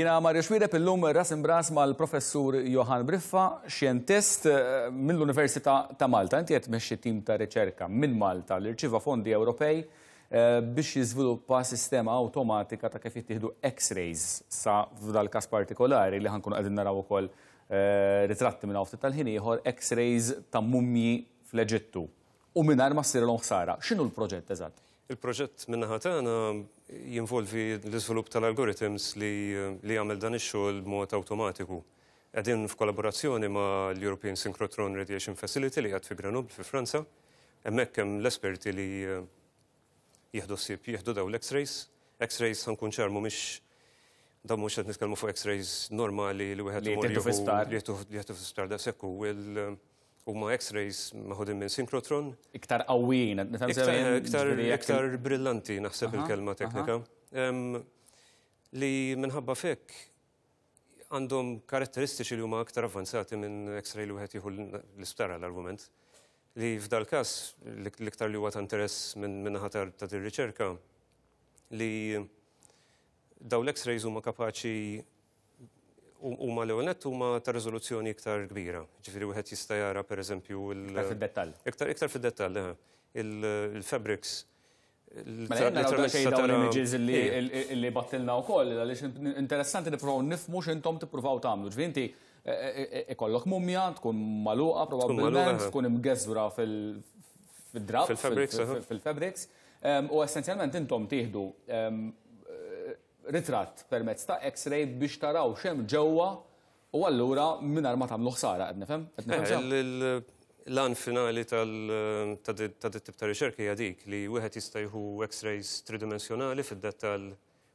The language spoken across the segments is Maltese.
Jiena Mario Xuereb illum ras imbras mal-Professur Johann Briffa, xjentist mill-Università ta' Malta. Inti qed tmexxi tim ta' riċerka minn Malta li rċieva fondi Ewropej biex jiżviluppa sistema awtomatika ta' kif jittieħdu X-rays sa f'dal-każ partikolari li ħankunu qegħdin naraw ukoll ritratti minn hawn ftit tal-ħin ieħor X-rays ta' mumji fl-Eġittu u mingħajr ma ssirilhom ħsara. X'inhu l-proġett eżatt? Il-proġett min-naħa tagħna jinvolvi l-iżvilupp tal-algorithms li li jagħmel dan ix-xogħol b'mod awtomatiku. Qegħdin f'kollaborazzjoni ma' l-European Synchrotron Radiation Facility li qiegħed fi Grenoble fi Franza. Hemmhekk hemm l-esperti li jieħdu ħsieb jieħdu dawn l-X-rays. X-rays ħa nkun ċar mhumiex dawn mhux qed nitkellmu fuq X-rays normali li wieħed Li imur jittieħdu fi jieħu sptar. li jieħdu fi sptar daqshekk hu huma X-rays meħudin minn synchrotron. Iktar qawwijin, qed nifhem sew jien? Iktar, iktar brillanti naħseb il-kelma teknika. Li minħabba f'hekk għandhom karatteristiċi li huma aktar avvanzati minn X-ray li wieħed jieħu l-isptar għall-argument. Li f'dal-każ l-iktar li huwa ta' interess minn naħa ta' din riċerka li dawn l-X-rays huma kapaċi huma l-ewwel nett huma ta' riżoluzzjoni iktar kbira. Ġifieri wieħed jista' jara pereżempju Iktar fid-dettall. Iktar iktar fid-dettall, il-fabrics. Mela naraw daqsxejn dawn l-images li battilna wkoll għaliex interessanti nippruvaw nifhmu x'intom tippruvaw tagħmlu. Ġifieri inti ikollok mumja, tkun magħluqa probabbilment, tkun imgeżwra fil-drab, fil-fabrics. Fil-fabrics. U essenzjalment intom tieħdu ritratt permezz ta' X-ray biex taraw x'hemm ġewwa u allura mingħajr ma tagħmlu ħsara, qed nifhem? Qed nifhem sew? L-għan finali ta' dit tip ta' riċerka hija dik li wieħed jista' jieħu X-rays tridimensjonali fid-dettall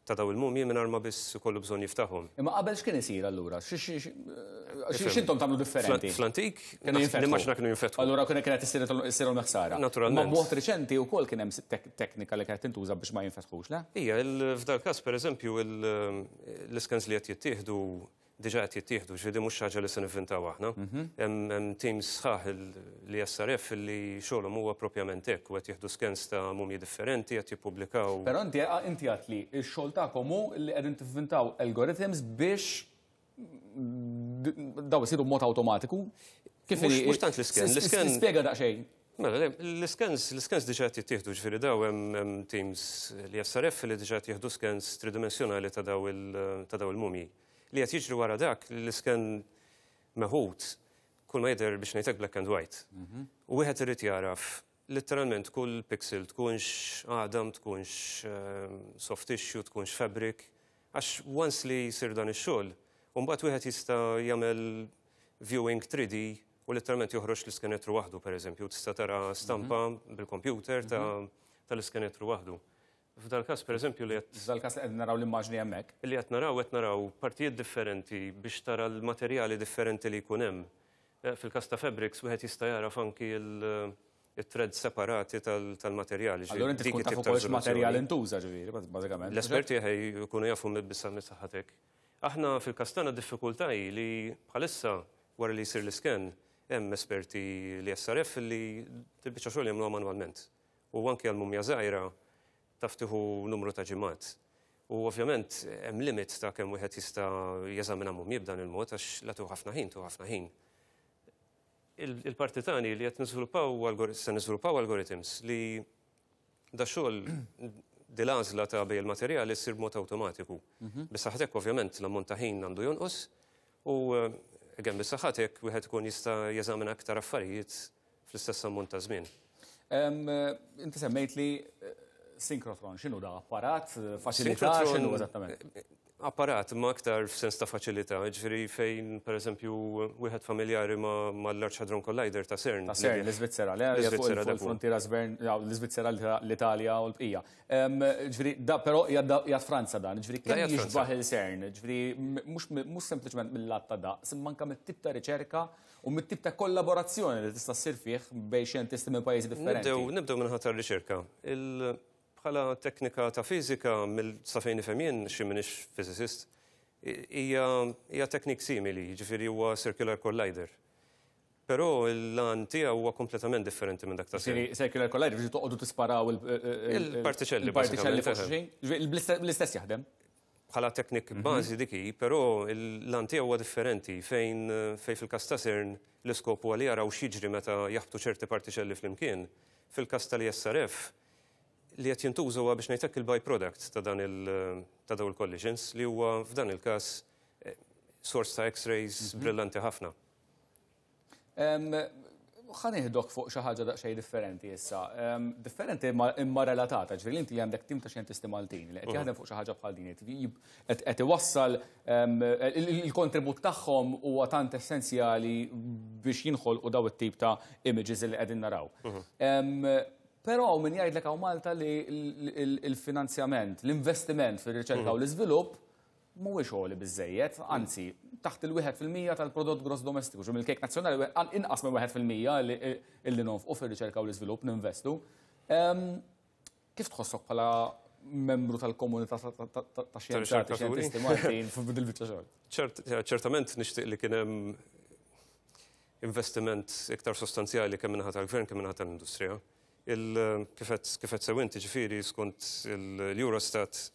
ta' dawn il-mumji mingħajr ma biss ikollu bżonn jiftaħhom. Imma qabel x'kien isir allura? X'intom tagħmlu differenti? Fl-antik, Kienu jinfetħu. nimmaġina kienu jinfetħu. Allura kienet issirhom ħsara. Naturalment. Ma b'mod riċenti wkoll kien hemm teknika li kienet tintuża biex ma jinfetħux, le? Ija, f'dal każ pereżempju l-iskans li qed jittieħdu diġà qed jittieħdu, ġifieri mhux ħaġa li se nivvintaw aħna. Hemm teams sħaħ li SRF li xogħolhom huwa propjament hekk u qed jieħdu scans ta' mumji differenti, qed jippubblikaw. Però inti għedt li x-xogħol tagħkom hu li qegħdin tivvintaw algorithms biex daw isiru b'mod awtomatiku. Kif Mhux tant l-iscan, l-iscan Spjega daqsxejn. Mela, l-iskans diġà qed jittieħdu, ġifieri daw hemm teams li SRF li diġà qed jieħdu scans tridimensjonali ta' daw il-mumji. Li qed jiġri wara dak l-iscan meħud kull ma jidher biex ngħidlek black and white. U wieħed irid jaraf letteralment kull pixel tkunx għadam, tkunx soft tissue, tkunx fabric, għax once li jsir dan ix-xogħol, u mbagħad wieħed jista' jagħmel viewing 3D u letteralment joħroġ l-iskenetru waħdu, pereżempju, tista' tara stampa bil-computer tal-iskenetru waħdu. F'dal każ pereżempju li qed F'dal każ li qed naraw l-immaġni hemmhekk. Li qed naraw partijiet differenti biex tara l-materjali differenti li jkun hemm. Fil-każ ta' fabrics wieħed jista' jara anki il-threads separati tal-materjali. Allura inti tkun taf ukoll x'materjal intuża ġifieri, bażikament. L-esperti jkunu jafu bissa mis-saħħatek. Aħna fil-każ tagħna diffikultà hi li bħalissa wara li jsir l-iscan hemm esperti li SRF li tibbiċċa xogħol jagħmluha manwalment. U anke għal mumja żgħira taf tieħu numru ta' ġimgħat. U ovvjament hemm limit ta' kemm wieħed jista' jeżamina mumji b'dan il-mod għax la tieħu ħafna ħin, tieħu ħafna ħin. Il-parti tagħni li qed niżviluppaw se niżviluppaw algorithms li da xogħol dil-għażla ta' bejn il-materjali ssir b'mod awtomatiku. Bis-saħħatek ovvjament l-ammont ta' ħin għandu jonqos u again bis-saħħatek wieħed ikun jista' jeżamina aktar affarijiet fl-istess ammont ta' żmien. Inti semmejt li synchrotron, x'inhu da apparat, faċilità, x'inhu eżattament? Apparat ma aktar f'sens ta' faċilità, ġifieri fejn pereżempju wieħed familjari ma' l-Large Hadron Collider ta' CERN. Ta' CERN, l-Iżvizzera, le? L-Iżvizzera, dak hu. Frontiera CERN, l-Iżvizzera, l-Italja u l-bqija. Ġifieri, da però qiegħed Franza dan, ġifieri Da kemm qiegħed Franza. jixbaħ il-CERN, ġifieri mhux sempliċement mill-lat ta' daqs, imma anke mit-tip ta' riċerka u mit-tip ta' kollaborazzjoni li tista' ssir fih bejn xjentisti minn pajjiżi differenti. Nibdew minn ħadd tar-riċerka. Bħala teknika ta' fiżika, sa fejn nifhem jien, xi m'iniex physicist, hija teknik simili, jiġifieri huwa circular collider. Però l-għan tiegħu huwa kompletament differenti minn dak ta' Ġifieri CERN. circular collider, ġifieri toqgħodu tisparaw Il-partiċelli, il-partiċelli fuq bażikament, xulxin? Ġifieri l-istess jaħdem? Bħala teknik bażi dik hi, però l-għan tiegħu huwa differenti fejn fejn fil-każ ta' CERN l-iskop huwa li jaraw x'jiġri meta jaħbtu ċerti partiċelli flimkien. Fil-każ tal-ESRF li qed jintuża huwa biex ngħid hekk il-byproduct ta' dan il ta' dawn il-collisions li huwa f'dan il-każ sors ta' X-rays brillanti ħafna. Ħa nieħdok fuq xi ħaġa daqsxejn differenti issa. Differenti imma relatata, ġifieri inti għandek tim ta' xjentisti Maltin li qed jaħdem fuq xi ħaġa bħal din, qed iwassal il-kontribut tagħhom huwa tant essenzjali biex jinħolqu daw it-tip ta' images li qegħdin naraw. Però hawn min jgħidlek hawn Malta li l-finanzjament, l-investiment fir-riċerka u l-iżvilupp mhuwiex għoli biżejjed, anzi, taħt il-1% tal-prodott gross domestiku, ġu mill-kejk nazzjonali inqas minn 1% illi nonfqu fir-riċerka u l-iżvilupp ninvestu. Kif tħossok bħala membru tal-komunità ta' xjenzati, xjentisti Maltin f'dil-biċċa xogħol? Ċertament nixtieq li kien hemm investiment iktar sostanzjali kemm minnaħa tal-gvern kemm minnaħa tal-industrija. Kif qed sew inti ġifieri skont l-Eurostat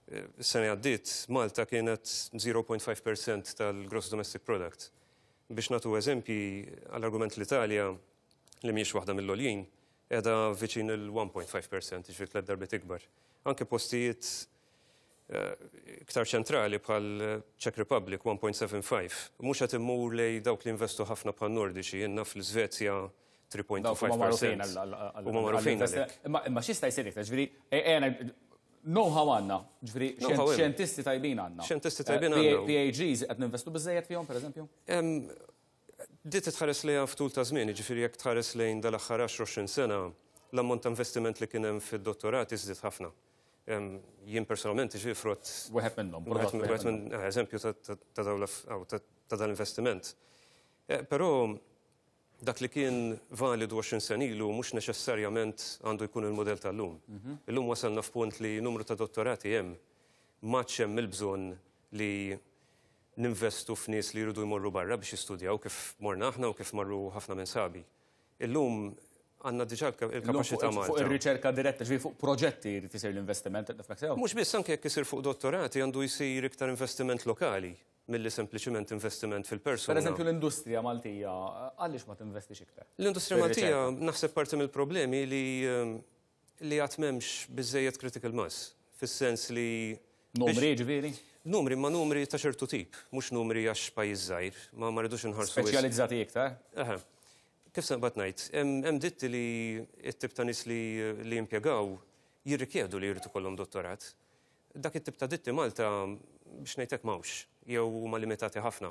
is-sena għaddiet Malta kienet 0.5% tal-gross domestic product. Biex nagħtu eżempji għall-argument l-Italja li mhijiex waħda mill-għoljin qiegħda viċin il-1.5%, ġifieri tliet darbiet ikbar. Anke postijiet iktar ċentrali bħal Czech Republic 1.75. Mhux qed immur lej dawk li investu ħafna bħal Nordiċi, jenna fl-Svezja 3.25%. Huma magħrufin. Imma x'jista' jsir iktar, ġifieri know-how għandna, ġifieri xjentisti tajbin għandna. Xjentisti tajbin għandna. PhDs qed ninvestu biżejjed fihom, pereżempju? Di titħares lejha f'tul ta' żmien, ġifieri jekk tħares lejn dal-aħħar 10-20 sena, l-ammont ta' investiment li kien hemm fid-dottorati żdied ħafna. Jien personalment ġifieri frott. Wieħed minnhom. Wieħed minn eżempju ta' dal-investiment. Però dak li kien validu 20 sena ilu mhux neċessarjament għandu jkun il-modell tal-lum. Illum wasalna f'punt li numru ta' dottorati hemm m'għadx hemm il-bżonn li ninvestu f'nies li jridu jmorru barra biex jistudjaw kif morna aħna u kif marru ħafna minn sħabi. Illum għandna diġà il-kapaċità Malta. Fuq ir-riċerka diretta, ġifieri fuq proġetti jrid isir l-investiment, nifhmek sew? Mhux biss, anke jekk isir fuq dottorati għandu jsir iktar investiment lokali milli sempliċiment investiment fil-persuna. Per eżempju l-industrija Maltija, għaliex ma tinvestix iktar? L-industrija Maltija naħseb parti mill-problemi li li għad m'hemmx biżejjed critical mass, fis-sens li Numri ġifieri? Numri, ma numri ta' ċertu tip, mhux numri għax pajjiż żgħir, ma ma rridux inħarsu. Speċjalizzati iktar? Eħe. Kif se nqbad ngħid, hemm ditti li t-tip ta' nies li li jimpjegaw jirrikjedu li jrid ikollhom dottorat. Dak it-tip ta' ditti Malta biex ngħid hekk m'hawnx, jew huma limitati ħafna.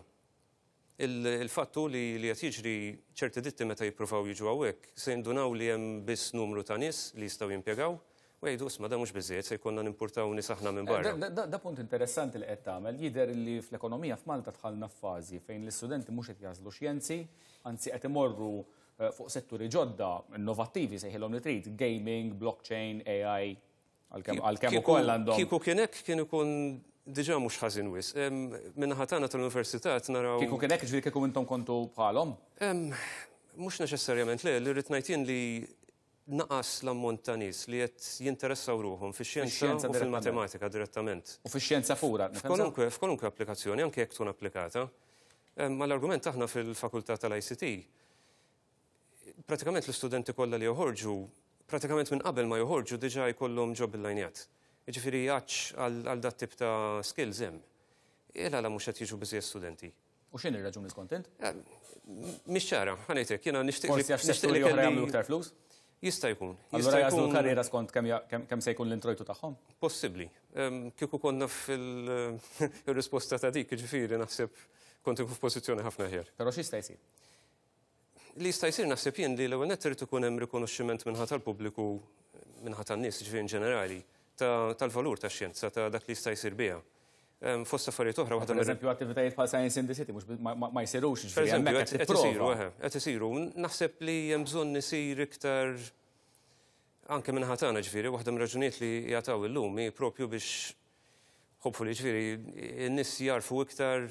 Il-fatt hu li li qed jiġri ċerti ditti meta jippruvaw jiġu hawnhekk se jindunaw li hemm biss numru ta' nies li jistgħu jimpjegaw u jgħidu isma' dan mhux biżżejjed se jkollna nimpurtaw nies aħna minn barra. Da punt interessanti li qed tagħmel. Jidher li fl-ekonomija f'Malta dħalna f'fażi fejn l-istudenti mhux qed jagħżlu xjenzi, anzi qed imorru fuq setturi ġodda, innovattivi sejħilhom li trid, gaming, blockchain, AI, Għalkemm ukoll għandhom. Kieku kien hekk kien ikun diġà mhux ħażin wisq. Min-naħa tagħna tal-università qed naraw. Kieku kien hekk, ġifieri kieku intom kontu bħalhom? Mhux neċessarjament le, li rrid ngħid jien li naqas l-ammont ta' nies li qed jinteressaw ruħhom fix-xjenza u fil-matematika direttament. U fix-xjenza pura. F'kwalunkwe f'kwalunkwe applikazzjoni, anke jekk tkun applikata. Mal-argument aħna fil-fakultà tal-ICT pratikament l-istudenti kollha li joħorġu, pratikament minn qabel ma joħorġu diġà jkollhom job illajnjat. Jiġifieri għatx għal dat tip ta' skills hemm. Il għala mhux qed jiġu biżejjed studenti. U x'inhi r-raġuni skont int? Mhix ċara, ħa ngħid hekk, jiena nixtieq Forsi għax setturi oħra jagħmlu iktar flus? Jista' jkun. Allura jagħżlu l-karriera skont kemm se jkun l-introjtu tagħhom? Possibbli. Kieku konna fil-risposta ta' dik, jiġifieri naħseb kont inkun f'pożizzjoni ħafna aħjar. Però x'jista' jsir? Li jista' jsir naħseb jien li l-ewwel nett irid ikun hemm rikonoxximent min-naħa tal-pubbliku, min-naħa tan-nies, jiġifieri in ġenerali, tal-valur tax-xjenza, ta' dak li jista' jsir biha. Fost affarijiet oħra waħda. Pereżempju attivitajiet bħal Science in the City mhux ma jsirux, jiġifieri hemmhekk qed isiru, eħe, qed isiru. Naħseb li hemm bżonn isir iktar anke min-naħa tagħna, ġifieri waħda mir-raġunijiet li jagħtaw illum hi proprju biex hopefully ġifieri n-nies jagħrfu iktar.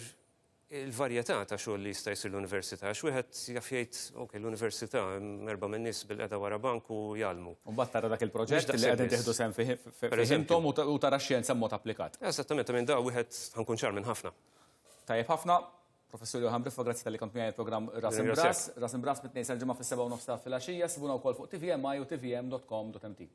il-varjetà ta' xogħol li jista' jsir l-università, għax wieħed jaf jgħid, ok, l-università hemm erba' minn nies bil-qeda wara bank u jgħallmu. U mbagħad tara dak il-proġett li qegħdin tieħdu sehem fih intom u tara x-xjenza b'mod applikat. Eżattament, minn da wieħed ħa nkun ċar minn ħafna. Tajjeb ħafna. Professur Johann Briffa, grazzi talli kont miegħi il-programm Ras Imbras. Ras Imbras mit-Tnejn sal-Ġimgħa fis-7:30 ta' filgħaxija, sibuna wkoll fuq TVMI u tvm.com.mt.